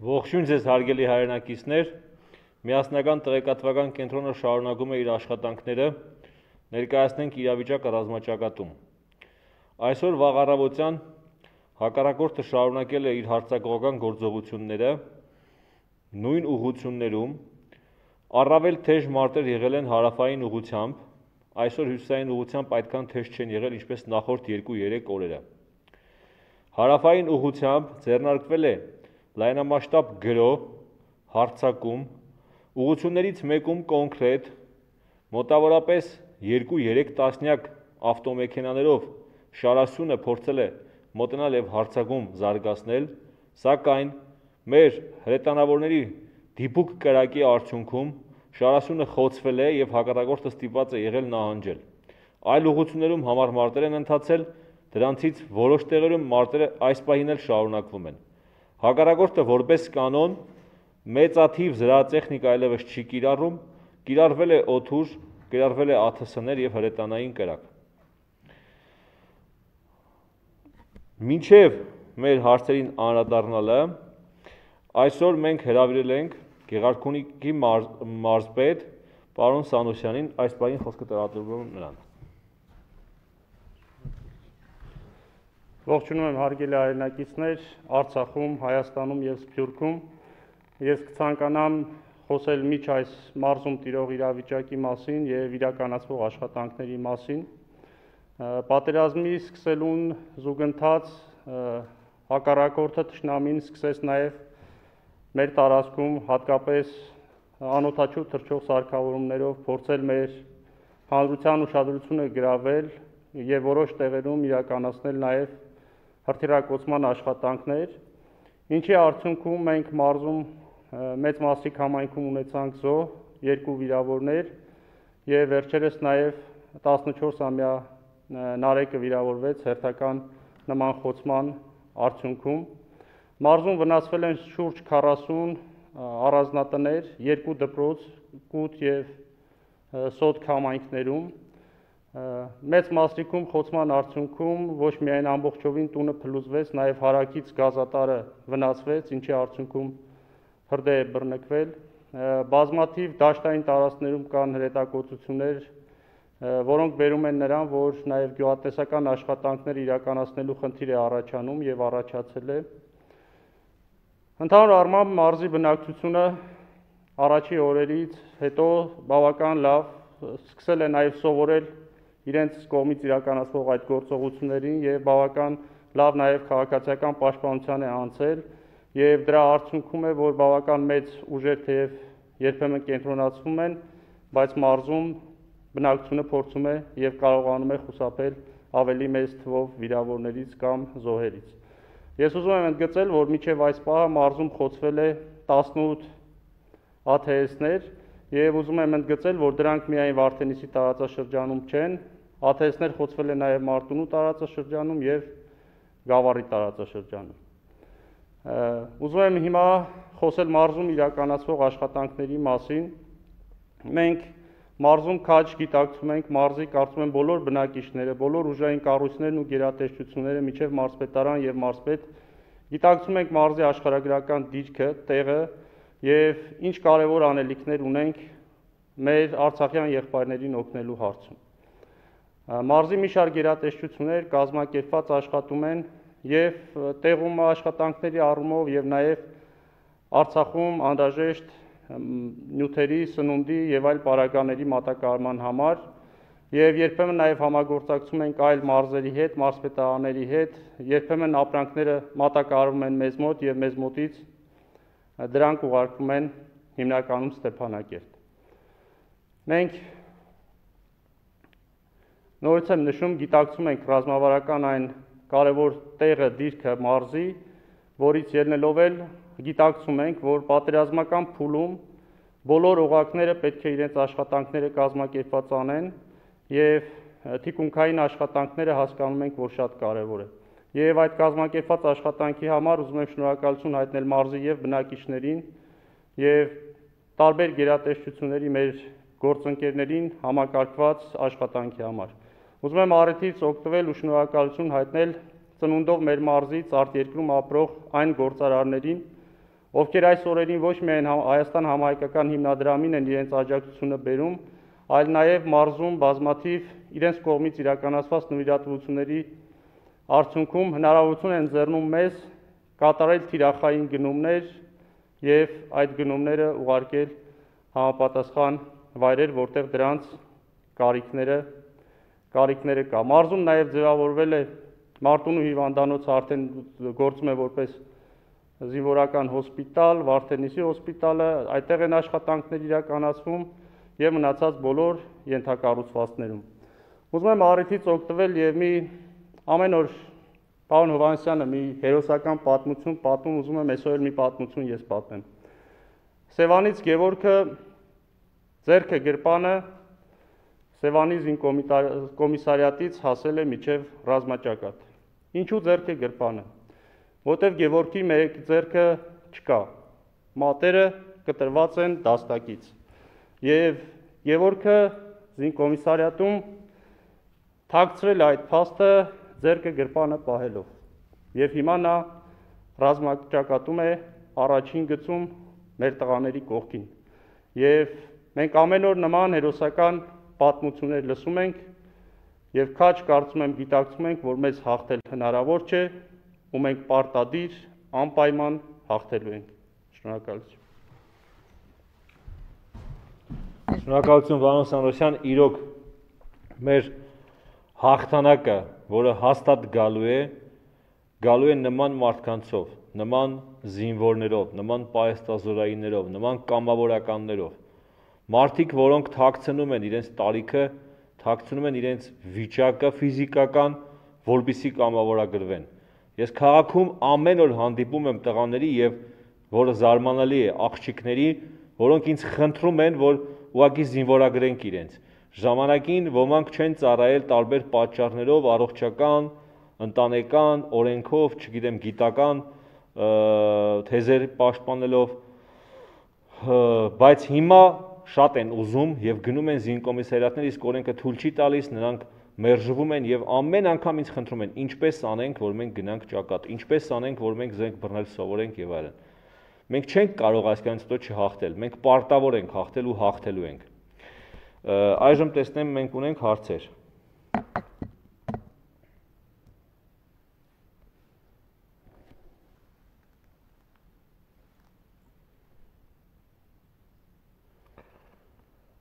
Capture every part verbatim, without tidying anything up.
Ողջույն ձեզ հարգելի հայրենակիցներ, միասնական տեղեկատվական կենտրոնը շարունակում է իր աշխատանքները, ներկայացնենք իրավիճակը ռազմաճակատում։ Այսօր վաղ առավոտյան հակառակորդը շարունակել է իր հարձակողական գործողությունները, նույն ուղղություններում, առավել թեժ մարտեր եղել են հարավային ուղղությամբ, այսօր հյուսիսային ուղղությամբ այդքան թեժ չեն եղել ինչպես նախորդ երկու-երեք օրերը։ Հարավային ուղղությամբ ձեռնարկվել է լայնամասշտաբ գրոհ, հարձակում, ուղղություններից մեկում կոնկրետ, մոտավորապես երկու-երեք տասնյակ ավտոմեքենաներով շարասյունը փորձել է մոտենալ եւ հարձակում զարգացնել, սակայն մեր հրետանավորների դիպուկ կրակի արդյունքում շարասյունը խոցվել է եւ հակառակորդը ստիպված է եղել նահանջել։ Այլ ուղղություններում համառ մարտեր են ընթացել, դրանցից որոշ տեղերում մարտերը այս պահին էլ շարունակվում են։ Հակառակորդը որպես կանոն մեծաթիվ զրահատեխնիկա այլևս չի կիրառում, կիրառվել է օդուր, կիրառվել է ա թ ս-ներ եւ հրետանային կրակ։ Մինչև մեր հարցերին անդրադառնալը, այսօր մենք հրավիրել ենք Գեղարքունիքի մարզպետ պարոն Սանոսյանին, այս պահին խոսքը տրամադրվում է նրան։ Ողջունում եմ հարգելի հայրենակիցներ, Արցախում, Հայաստանում եւ Սփյուռքում։ Ես կցանկանամ խոսել միջ այս մարզում տիրող իրավիճակի մասին եւ իրականացվող աշխատանքների մասին։ Պատերազմի սկսելուն զուգընթաց հակառակորդը թշնամին սկսեց նաեւ մեր տարածքում հատկապես անօդաչու թռչող սարքավորումներով փորձել մեր հանրության ուշադրությունը գրավել եւ որոշ տեղերում իրականացնել նաեւ հրթիռակոծման աշխատանքներ, ինչի արդյունքում մենք մարզում մեծ մասիկ համայնքում ունեցանք զոհ, երկու վիրավորներ եւ վերջերս նաեւ տասնչորսամյա Նարեկը վիրավորվեց հերթական նման խոցման արդյունքում։ Մարզում վնասվել են շուրջ քառասուն առանձնատներ, երկու դպրոց, կուտ եւ սոթք համայնքներում։ Մեծ մասնիկում խոցման արդյունքում ոչ միայն ամբողջովին տունը փլուզվեց, նաև հարակից գազատարը վնասվեց, ինչի արդյունքում հրդեհ է բռնկվել։ Բազմաթիվ դաշտային տարածքներում կան հրետակոծություններ, որոնք բերում են նրան, որ նաև գյուղատնտեսական աշխատանքներ իրականացնելու խնդիր է առաջանում եւ առաջացել է։ Ընդհանուր առմամբ մարզի բնակչությունը առաջի օրերից հետո բավական լավ սկսել է նաև սովորել իրենց կողմից իրականացվող այդ գործողություններին եւ բավական լավ նաեւ քաղաքացիական պաշտպանության է անցել եւ դրա արդյունքում է, որ բավական մեծ ուժեր թեև երբեմն կենտրոնացվում են, բայց մարզում բնակչությունը փորձում է եւ կարողանում է խուսափել ավելի մեծ թվով վիրավորներից կամ զոհերից։ Ես ուզում եմ ընդգծել, որ մինչեւ այս պահը մարզում խոցվել է տասնութ ա թ ս-ներ եւ ուզում եմ ընդգծել, որ դրանք միայն Վարդենիսի տարածաշրջանում չեն, ա թ ս-ներ խոցվել են նաեւ Մարտունու տարածաշրջանում եւ Գավառի տարածաշրջանում։ Ուզում եմ հիմա խոսել մարզում իրականացվող աշխատանքների մասին։ Մենք մարզում քաջ գիտակցում ենք մարզի կարծում եմ բոլոր բնակիչները, բոլոր ուժային կառույցներն ու գերատեսչությունները միջև մարզպետարան եւ մարզպետ գիտակցում ենք մարզի աշխարհագրական դիրքը, տեղը եւ ինչ կարեւոր անելիքներ ունենք մեր արցախյան եղբայրներին օգնելու հարցում։ Մարզի մի շարք գերատեսչություններ կազմակերպված աշխատում են եւ տեղում աշխատանքների առումով եւ նաեւ Արցախում անհրաժեշտ նյութերի, սնունդի եւ այլ պարագաների մատակարարման համար եւ երբեմն նաեւ համագործակցում ենք այլ մարզերի հետ, մարզպետարանների հետ, երբեմն ապրանքները մատակարարվում են մեզ մոտ եւ մեզ մոտից դրանք ուղարկվում են հիմնականում Ստեփանակերտ։ Մենք նորից եմ նշում, գիտակցում ենք ռազմավարական այն կարևոր տեղը, դիրքը մարզի, որից ելնելով էլ գիտակցում ենք, որ պատերազմական փուլում բոլոր օղակները պետք է իրենց աշխատանքները կազմակերպված անեն եւ թիկունքային աշխատանքները հասկանում ենք, որ շատ կարեւոր է։ Եվ այդ կազմակերպված աշխատանքի համար ուզում եմ շնորհակալություն հայտնել մարզի եւ բնակիչներին եւ տարբեր գերատեսչությունների մեր գործընկերներին համակարգված աշխատանքի համար։ Ուզում եմ առիթից օգտվել ու շնորհակալություն հայտնել ծնունդով մեր մարզից արտերկրում ապրող այն գործարարներին, ովքեր այս օրերին ոչ միայն Հայաստան համահայկական հիմնադրամին են իրենց աջակցությունը բերում, այլ նաև մարզում բազմաթիվ իրենց կողմից իրականացված նվիրատվությունների արդյունքում հնարավորություն են ձեռնում մեզ կատարել թիրախային գնումներ եւ այդ գնումները ուղարկել համապատասխան վայրեր, որտեղ դրանց կարիքները կարիքները կա։ Մարզում նաև ձևավորվել է Մարտունու հիվանդանոցը, արդեն գործում է որպես զինվորական հոսպիտալ, Վարդենիսի հոսպիտալը, այդտեղ են աշխատանքներ իրականացվում եւ մնացած բոլոր ենթակառուցվածքներում։ Ուզում եմ առիթից օգտվել եւ մի ամեն օր պարոն Հովհաննիսյանը մի հերոսական պատմություն պատմում, ուզում եմ այսօր մի պատմություն ես պատմեմ։ Սևանից Գևորգը ձեռքը գրպանը Սևանի զինկոմիսարիատից հասել է մինչև ռազմաճակատ։ Ինչու ձեռքը գրպանը։ Որտև Գևորգի մեկ ձեռքը չկա։ Մատերը կտրված են դաստակից։ Եվ Գևորգը զինկոմիսարիատում թաքցրել այդ փաստը ձեռքը գրպանը պահելով։ Եվ հիմա նա ռազմաճակատում է առաջին գծում մեր տղաների կողքին։ Եվ մենք ամեն օր նման հերոսական պատմություններ լսում ենք եւ քաչ կարծում եմ գիտակցում ենք, որ մեզ հաղթել հնարավոր չէ, ու մենք պարտադիր անպայման հաղթելու ենք։ Շնորհակալություն։ Շնորհակալություն պարոն Սանրոսյան, իրոք մեր հաղթանակը, որը հաստատ գալու է, գալու է նման մարդկանցով, նման զինվորներով, նման պահեստազորայիններով, նման կամավորականներով։ Մարդիկ, որոնք թաքցնում են իրենց տարիքը, թաքցնում են իրենց վիճակը ֆիզիկական, որպեսզի կամավորագրվեն։ Ես քաղաքում ամեն օր հանդիպում եմ տղաների եւ որը զարմանալի է, աղջիկների, որոնք ինձ խնդրում են, որ ուղղակի զինվորագրենք իրենց։ Ժամանակին ոմանք չեն ծառայել տարբեր պատճառներով, առողջական, ընտանեկան, օրենքով, չգիտեմ, գիտական թեզեր պաշտպանելով, բայց հիմա շատ են ուզում եւ գնում են զինկոմիսարիատներ, իսկ օրենքը թույլ չի տալիս, նրանք մերժվում են եւ ամեն անգամ ինձ խնդրում են, ինչպես անենք, որ մենք գնանք ճակատ, ինչպես անենք, որ մենք զենք բռնել սովորենք եւ այլն։ Մենք չենք կարող այսքանից հետո չհաղթել, մենք պարտավոր ենք հաղթել ու հաղթելու ենք։ Այժմ տեսնեմ մենք ունենք հարցեր։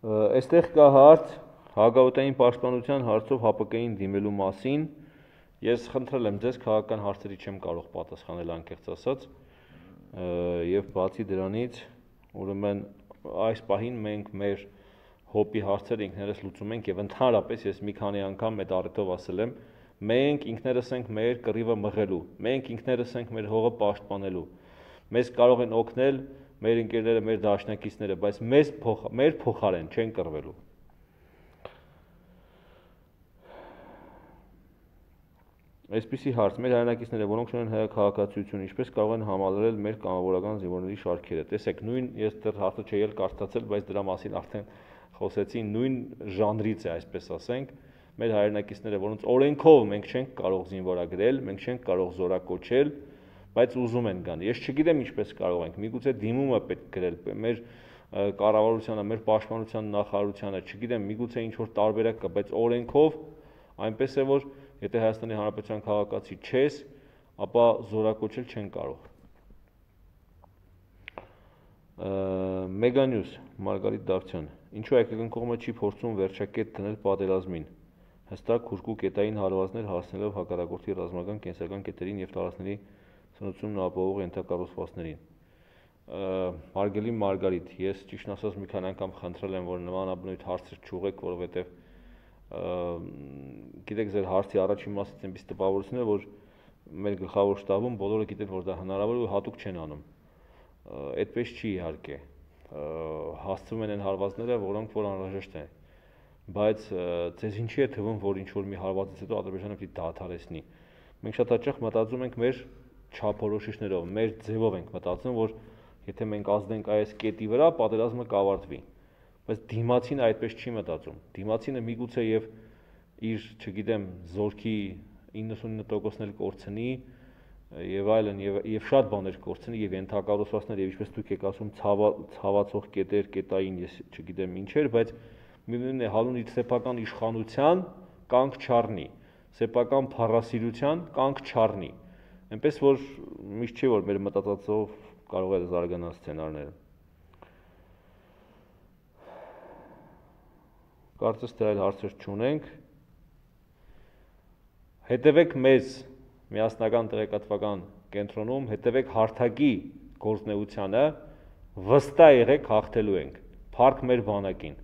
Այստեղ կա հարց հակաօդային պաշտպանության հարցով Հ Պ Կին դիմելու մասին։ Ես խնդրել եմ ձեզ, քաղաքական հարցերի չեմ կարող պատասխանել անկեղծ ասած, եւ բացի դրանից, ուրեմն այս պահին մենք մեր հոպի հարցերը ինքներս լուծում ենք եւ ընդհանրապես ես մի քանի անգամ այդ առիթով ասել եմ, մենք ինքներս ենք մեր կռիվը մղելու, մենք ինքներս ենք մեր հողը պաշտպանելու։ Մեզ կարող են օգնել մեր ընկերները, մեր դաշնակիցները, բայց մեզ փոխ, մեր փոխարեն չեն կռվելու։ Այսպիսի հարց, մեր հայրենակիցները, որոնք ունեն հայաքաղաքացիություն, ինչպես կարող են համալրել մեր կամավորական զինվորների շարքերը։ Տեսեք, նույն ես դեռ հարցը չէի էլ կարդացել, բայց դրա մասին արդեն խոսեցի, նույն ժանրից է, այսպես ասենք, մեր հայրենակիցները, որոնց օրենքով մենք չենք կարող զինվորագրել, մենք չենք կարող զորակոչել, բայց ուզում են գան։ Ես չգիտեմ ինչպես կարող ենք, միգուցե դիմումը պետք գրել մեր կառավարությանը, մեր պաշտպանության նախարարությանը, չգիտեմ, միգուցե ինչ որ տարբերակ կա, բայց օրենքով այնպես է, որ եթե Հայաստանի Հանրապետության քաղաքացի չես, ապա զորակոչել չեն կարող։ Մեգանյուս, Մարգարիտ Դավթյան, ինչու հայկական կողմը չի փորձում վերջակետ դնել պատերազմին, հստակ հուժկու կետային հարվածներ հասնելով հակառակորդի ռազմական կենսական կետերին եւ տարածքների սնուցումն ապահովող ենթակառուցվածքներին։ Հարգելի Մարգարիտ, ես ճիշտն ասած մի քանի անգամ խնդրել եմ, որ նմանաբնույթ հարցեր չուղեք, որովհետեւ գիտեք, ձեր հարցի առաջին մասից այնպես տպավորություն է, որ մեր գլխավոր շտաբում բոլորը գիտեն, որ դա հնարավոր է ու հատուկ չեն անում։ Այդպես չի իհարկե։ Հասցվում են այն հարվածները, որոնք որ անհրաժեշտ են։ Բայց ձեզ ինչի է թվում, որ ինչ որ մի հարվածից հետո Ադրբեջանը պիտի դադարեցնի։ Մենք շատ հաճախ մտածում ենք մեր չափորոշիչներով, մեր ձևով ենք մտածում, որ եթե մենք ազդենք այս կետի վրա, պատերազմը կավարտվի։ Բայց դիմացինը այդպես չի մտածում։ Դիմացինը միգուցե եւ իր, չգիտեմ, զորքի իննսունինը տոկոսն էլ կորցնի, եւ այլն եւ եւ շատ բաներ կորցնի եւ ենթակառուցվածքներ եւ ինչպես դուք եք ասում ցավացող կետեր, կետային, ես չգիտեմ ինչեր, բայց միևնույն է հալուն իր սեփական իշխանության կանգ չառնի, սեփական փառասիրության կանգ չառնի։ Այնպես որ միշտ չի որ մեր մտածածով կարող է զարգանալ սցենարները։ Կարծես թե այլ հարցեր չունենք։ Հետևեք մեզ միասնական տեղեկատվական կենտրոնում, հետևեք հարթակի գործնեությանը, վստահ եղեք հաղթելու ենք, փառք մեր բանակին։